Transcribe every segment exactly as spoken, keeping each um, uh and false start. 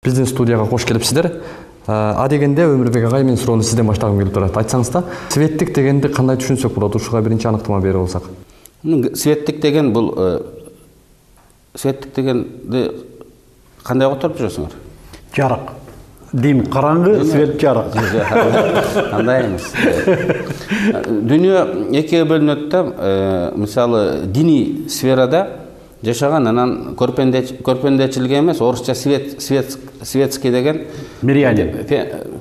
Биздин студияга кош келипсиздер. А дегенде Өмүрбек агай, мен суроону сизден баштагым келип турат. Айтсаңыз да, светтик дегенди кандай түшүнсөк болот? Ушуга биринчи аныктама берип алсак. Светтик деген бул светтик дегенди кандай которуп жүрөсүңөр? Жарык. Дим караңгы, свет жарык. Андай эмес. Дүйнө экиге бөлүнөт да, мисалы диний сферада жашаган, анан көрпендечиликке эмес, орусча свет свет светский деген мирянин.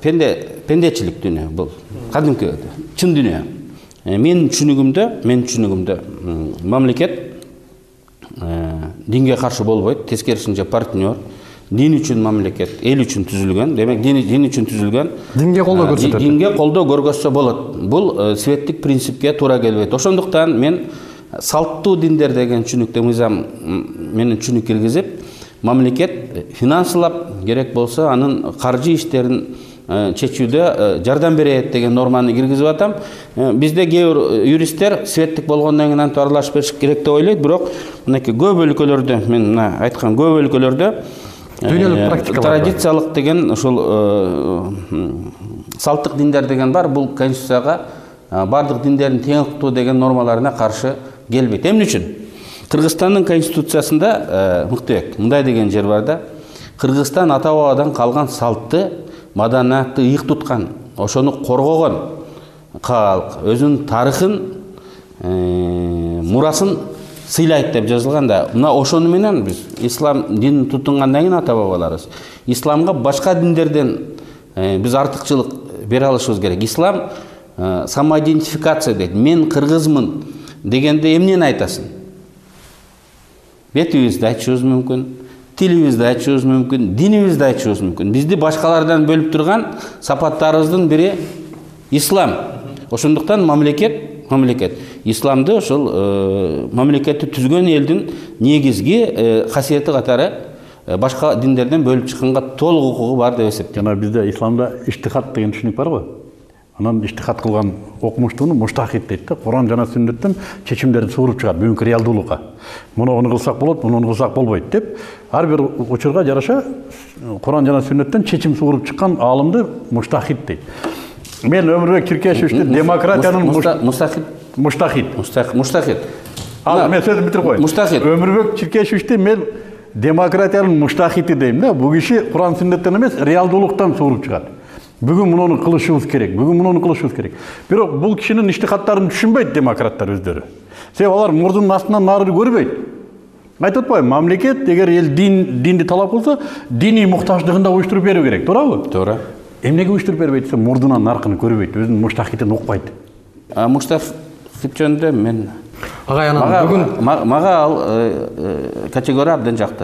Пенде пендечилик дүйнө бул. Кадимки чын дүйнө. Менин түшүнүгүмдө, менин түшүнүгүмдө мамлекет динге каршы болбойт, тескерисинче партнер. Дин үчүн мамлекет, эл үчүн түзүлгөн. Демек, дин дин үчүн түзүлгөн. Динге колдоо көрсөтөт. Динге колдоо көргөзсө болот. Бул светтик принципке туура келбейт. Ошондуктан мен салттуу диндер деген түшүнүктө мыйзам менин түшүнүк киргизип, мамлекет финансылап керек болсо анын каржы иштерин чечүүдө жардам берет деген норманы киргизип атам. Бизде кээ бир юристтер светтик болгондон кийин антип аралашып бериш керек деп ойлойт, бирок мынакей көп өлкөлөрдө, мен мына айткан көп өлкөлөрдө дүйнөлүк практика традициялык деген ушул салттык диндер деген бар. Бул конституцияга бардык диндердин тең укуктуу деген нормаларына каршы келбейт. Эмне үчүн? Кыргызстандын конституциясында Мыктыбек мындай деген жер бар да. Кыргызстан ата бабадан калган салтты, маданиятты ыйык туткан, ошону коргогон калк, өзүнүн тарыхын, мурасын сыйлайт деп жазылган да. Мына ошону менен биз ислам динин тутунгандан кийин ата бабаларыбыз исламга башка диндерден биз артыкчылык бере алышыбыз керек. Ислам самоидентификация дейт. Мен кыргызмын дегенде эмнени айтасың? Бетибизди айтышыбыз мүмкүн, тилибизди айтышыбыз мүмкүн, динибизди айтышыбыз мүмкүн. Бизди башкалардан бөлүп турган сапаттарыбыздын бири ислам. Ошондуктан мамлекет мамлекет исламды ошол мамлекетти түзгөн элдин негизги касиети катары башка диндерден бөлүп чыкканга толук укугу бар деп эсептейм. Жана бизде исламда иштихат деген түшүнүк бар го. Анан иштихат кылган окумуштууну муштахид дейт да. Куран жана сүннөттөн чечимдерди сууруп чыгат бүгүнкү реалдуулукка. Муну кылсак болот, муну кылсак болбойт деп ар бир учурга жараша Куран жана сүннөттөн чечим сууруп чыккан аалымды муштахид дейт. Мен Өмүрбек Чиркешевичти демократиянын мустахид муштахид муштахид. Ал мен сөзүмдү бүтүрүп коеюн. Муштахид. Өмүрбек Чиркешевичти мен демократиянын муштахиди дейм да. Бул киши Куран сүннөттөн эмес, реалдуулуктан сууруп чыгат. Бүгүн муну кылышыбыз керек, бүгүн муну кылышыбыз керек. Бирок бул кишинин иштихаттарын түшүнбөйт демократтар өздөрү. Себеби алар мурдунун астынан нары көрбөйт. Айтып атпайбы, мамлекет эгер эл дин динди талап кылса, диний муктаждыгын да уюштуруп берүү керек, туурабы? Туура. Эмнеге уюштуруп бербейт десе, мурдунан наркыны көрбөйт, өзүнүн муштахидин укпайт. А муштахид жөнүндө мен агай анан бүгүн мага ал категория абдан жакты.